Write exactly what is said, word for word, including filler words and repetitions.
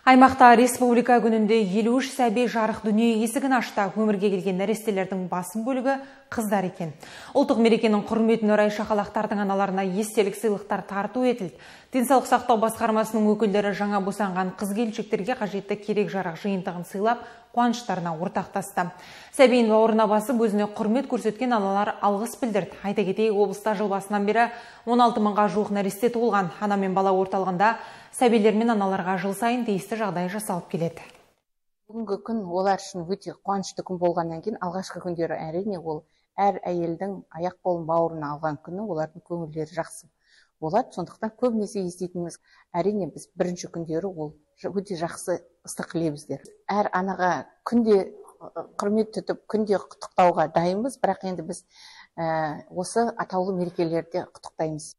Аймақта республика күнінде елу үш сәби жарық дүние есігін ашты. Өмірге келген нәрестелердің басым бөлігі қыздар екен. Ұлттық мерекенің құрметіне орай шақалақтардың аналарына естелік сыйлықтар тарту етілді. Денсаулық сақтау басқармасының өкілдері жаңа босанған қыз-келіншектерге қажетті керек жарақ жиынтығын сыйлап, қуаныштарына ортақтасты. Сәбиін бауырына басып, өзіне құрмет көрсеткен аналар алғыс білдірді. Айта кетейік, облыста жыл басынан бері он алты мыңға жуық нәресте туылған. Ана мен бала орталығында сәбилер мен аналарға жыл сайын тиісті жағдай жасалып келеді. Бүгінгі күн олар үшін өте қуанышты күн болғаннан кейін, алғашқы күндері әрине ол әр әйелдің аяқ қолын бауырына алған күні олардың көңілдері жақсы болады. Сондықтан көбінесе еститініміз, әрине біз бірінші күндері ол өте жақсы ыстық лебіздер. Әр анаға күнде құрмет тұтып, күнде құттықтауға дайынбыз, бірақ енді біз осы атаулы мерекелерде құттықтаймыз.